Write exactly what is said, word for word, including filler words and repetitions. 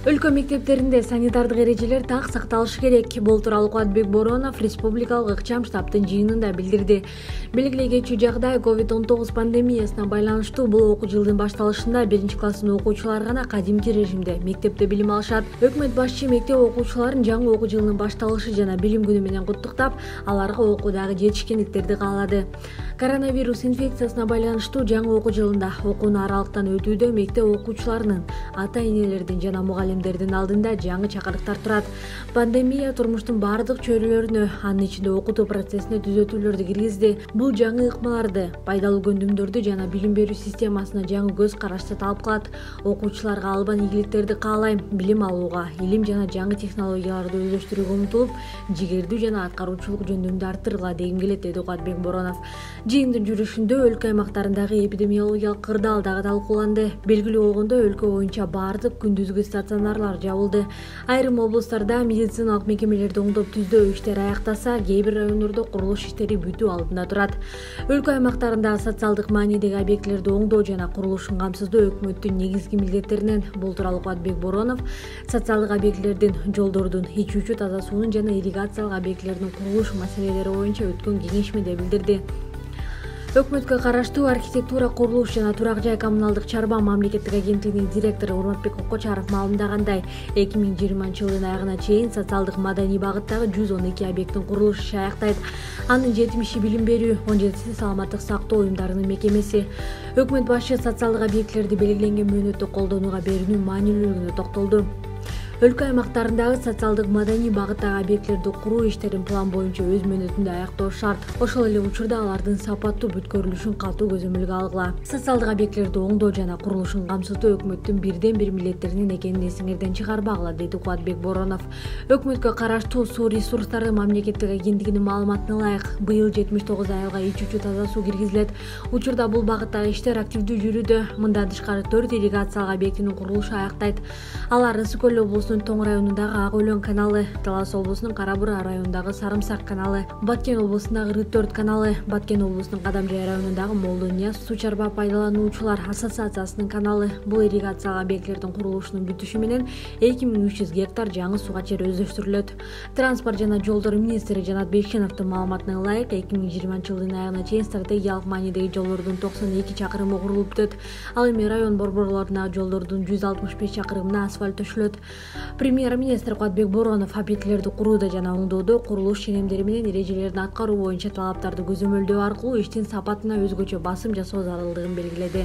Өлкө мектептеринде санитардык эрежелер так сакталышы керек. Бул тууралуу Кубатбек Боронов республикалык ыкчам штабтын жыйынында билдирди. Белгилей кетчү жагдай ковид он тогуз пандемиясына байланыштуу бул окуу жылдын башталышында биринчи класстын окуучулары гана кадимки режимде мектепте билим алышат. Өкмөт башчы мектеп окуучуларын жаңы окуу жылынын башталышы жана билим күнү менен куттуктап, аларга окуудагы жетишкендиктерди каалады. Коронавирус инфекциясына байланыштуу жаңы окуу жылында окууну аралыктан өтүүдө мектеп окуучуларынын, ата-энелердин жана мугалимдердин алдында жаңы чакырыктар турат. Пандемия турмуштун бардык чөйрөлөрүнө, анын ичинде окутуу процессине түзөтүүлөрдү киргизди. Бул жаңы ыкмаларды, пайдалуу көндүмдөрдү жана билим берүү системасына жаңы көз карашты талап кылат. Окуучуларга албан ийгиликтерди каалайм, билим алууга, илим жана жаңы технологияларды өздөштүрүүгө умтулуп, жигердүү жана аткаруучулук жөндөмдү арттыргыла дегим келет, деди Кубатбек Боронов. Жыйындын жүрүшүндө өлкө аймактарындагы эпидемиологиялык кырдаал дагы талкууланды. Белгилүү болгондой, өлкө боюнча бардык күндүзгү стационарлар жабылды. Айрым облустарда медициналык мекемелерди оңдоп түздөө иштери аяктаса, кээ бир райондордо курулуш иштери бүтүү алдында турат. Өлкө аймактарында социалдык маанидеги объектилерди оңдоо жана курулушун камсыздоо өкмөттүн негизги милдеттеринен. Бул тууралуу Кубатбек Боронов социалдык объектилердин, жолдордун, ичүүчү таза суунун жана ирригациялык объектилердин курулуш маселелери боюнча өткөн кеңешмеде билдирди. Өкмөткө караштуу архитектура, курулуш жана турак жай коммуналдык чарба мамлекеттик агенттигинин директору Урматбек Кокочаров маалымдагандай, эки миң жыйырманчы жылдын аягына чейин социалдык маданий багыттагы жүз он эки объекттин курулушу иши аяктайт. Анын жетимиши билим берүү, он жетиси саламаттык сактоо уюмдарынын мекемеси. Өкмөт башчы социалдык объектилерди белгиленген мөөнөттө колдонууга берүүнүн маанилүүлүгүнө токтолду. Өлкө аймактарындагы социалдык маданий багыттагы объектилерди куруу иштерин план боюнча өз мөөнөтүндө аяктоо шарт. Ошол эле учурда алардын сапаттуу бүткөрүлүшүн катуу көзөмөлгө алгыла. Социалдык объектилерди оңдоо жана курулушун камсыздоо өкмөттүн бирден бир милдеттеринин экенин эсиңерден чыгарбагыла, деди Кубатбек Боронов. Өкмөткө караштуу суу ресурстары мамлекеттик агенттигинин маалыматына ылайык, быйыл жетимиш тогуз айылга ичүүчү таза суу киргизилет. Учурда бул багыттагы иштер активдүү жүрүүдө. Мындан тышкары төрт ирригациялык объектинин курулушу аяктайт. Алар Ысык көл облусунун Тоң районундагы Ак Өлөң каналы, Талас облусунун Кара Бура районундагы Сарымсак каналы, Баткен облусундагы Рыт төрт каналы, Баткен облусунун Кадамжай районундагы Молдо Нияз суу чарба пайдалануучулар ассоциациясынын каналы. Бул ирригациялык объектилердин курулушунун бүтүшү менен эки миң үч жүз гектар жаңы суга чер өздөштүрүлөт. Транспорт жана жолдор министри Жанат Бекшеновдун маалыматына ылайык, эки миң жыйырманчы жылдын аягына чейин стратегиялык маанидеги жолдордун токсон эки чакырымы курулуп бүтөт. Ал эми район борборлорундагы жолдордун жүз алтымыш беш чакырымына асфальт төшөлөт. Премьер-министр Кубатбек Боронов объектилерди курууда жана оңдоодо курулуш ченемдери менен эрежелерин аткаруу боюнча талаптарды көзөмөлдөө аркылуу иштин сапатына өзгөчө басым жасоо зарылдыгын белгиледи.